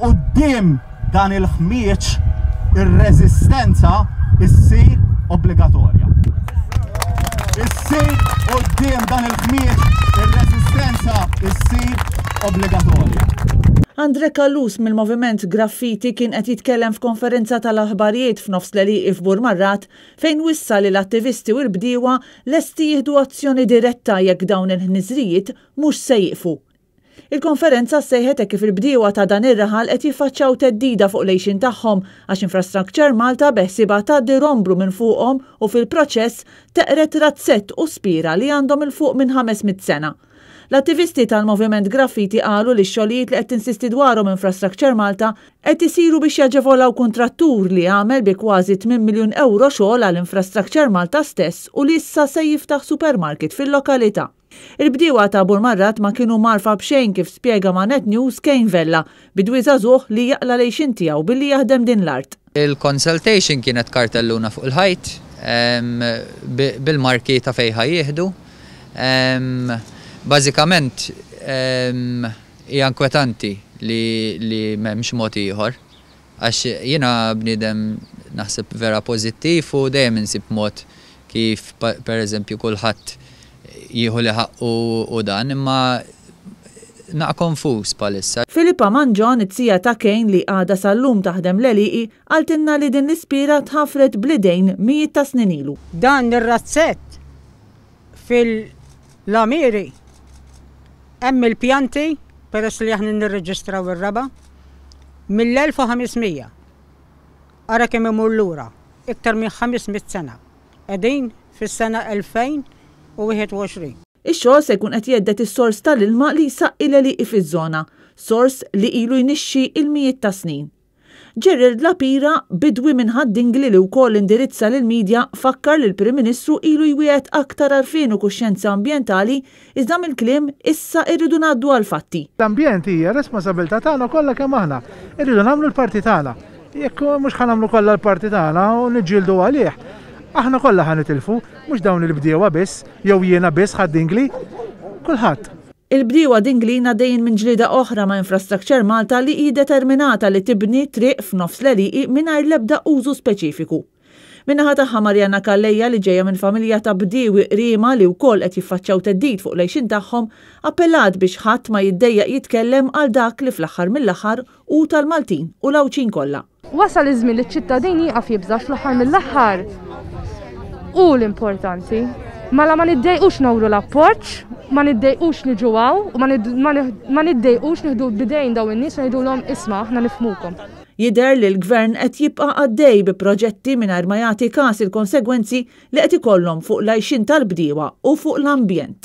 quddiem dan il-ħmieġ ir-reżistenza issir obbligatorja. Issir quddiem dan il-ħmieġ ir-reżistenza issir obbligatorja. Andre Callus mill-Moviment Graffiti kien qed jitkellem f'konferenza tal-aħbarijiet f'nofs l-għelieqi f'Burmarrad fejn wissa li l-attivisti u l-bdiewa lesti jieħdu azzjoni diretta jekk dawn il-ħniżrijiet mhux se jieqfu. Il-konferenza ssejħet hekk kif il-bdiewa ta' dan ir-raħal qed jiffaċċjaw theddida fuq l-għixien tagħhom għax Infrastructure Malta beħsiebha tgħaddi romblu minn fuqhom u fil-proċess teqred razzett u spiera li għandhom 'il fuq minn 500 sena. L-attivisti tal-Moviment Graffiti qalu li x-xogħlijiet li qed tinsisti dwarhom Infrastructure Malta qed isiru biex jaġevolaw kuntrattur li għamel bi kważi tminn miljun ewro xogħol għal Infrastructure Malta stess u li issa se jiftaħ supermarket fil-lokalità. Il-bdiewa ta' Burmarrad ma kienu mgħarrfa b'xejn kif spjega ma' Net News Kane Vella, bidwi żagħżugħ li jaqla' l-għixien tiegħu billi jaħdem din l-art. Il-consultation kienet kartelluna fuq il-ħajt bil-marki ta' fejn ħa jieħdu. Bażikament hija inkwetanti li m'hemmx mod ieħor Għax jiena bniedem naħseb vera pożittiv u dejjem insib mod kif pereżempju kulħadd jieħu li ħaqqu u dan, imma naqa' konfuż bħalissa. Philippa Mangion, it-tija ta' Kane li għadha sal-lum taħdem l-għelieqi, qaltilna li din l-ispiera tħaffret bl-idejn mijiet ta' snin ilu. Dan ir-razzett fil-għamieri hemm il-pjanti peress li aħna nirreġistraw ir-raba' mill-1500. Ara kemm imur lura, iktar minn 500 sena. Qegħdin fis-sena 2021. Ix-xogħol se jkun qed jhedded is-sors tal-ilma li jsaqqi l-għelieqi fiż-żona, sors li ilu jnixxi il-mijiet ta' snin. Gerald Lapira, bidwi minn Ħad-Dingli li wkoll indirizza lill-media, fakkar li l-Prim Ministru ilu jwiegħed aktar għarfien u kuxjenza ambjentali iżda mill-kliem issa rridu ngħaddu għall-fatti. L-ambjent hija responsabilità tagħna kollha kemm aħna. Irridu nagħmlu l-parti tagħna. Jekk mhux ħa nagħmlu kollha l-parti tagħna u niġġieldu għalih, aħna kollha ħa nitilfu, mhux dawn il-bdiewa biss, jew jiena biss Ħad-Dingli. Kulħadd. Il-bdiewa Dinglin għaddejjin minn ġlieda oħra ma' Infrastructure Malta li hi determinata li tibni triq f'nofs l-għelieqi mingħajr l-ebda użu speċifiku. Min-naħa tagħha Marianna Calleja li ġejja minn familja ta' bdiewi Qriema li wkoll qed jiffaċċjaw theddid fuq l-għixien tagħhom appellat biex ħadd ma jiddejjaq jitkellem għal dak li fl-aħħar mill-aħħar hu tal-Maltin u l-Għawdxin kollha. Wasal iż-żmien li ċ-ċittadin jieqaf jibża' fl-aħħar mill-aħħar hu l-importanti. Mela ma niddejqux nawru l-appoġġ, ma niddejqux niġu hawn u ma niddejqux nieħdu bidejn dawn in-nies u ngħidulhom isma' aħna nifhmukom. Jidher li l-Gvern qed jibqa' għaddej bi proġetti mingħajr ma jagħti kas il-konsegwenzi li qed ikollhom fuq l-għajxien tal-bdiewa u fuq l-ambjent.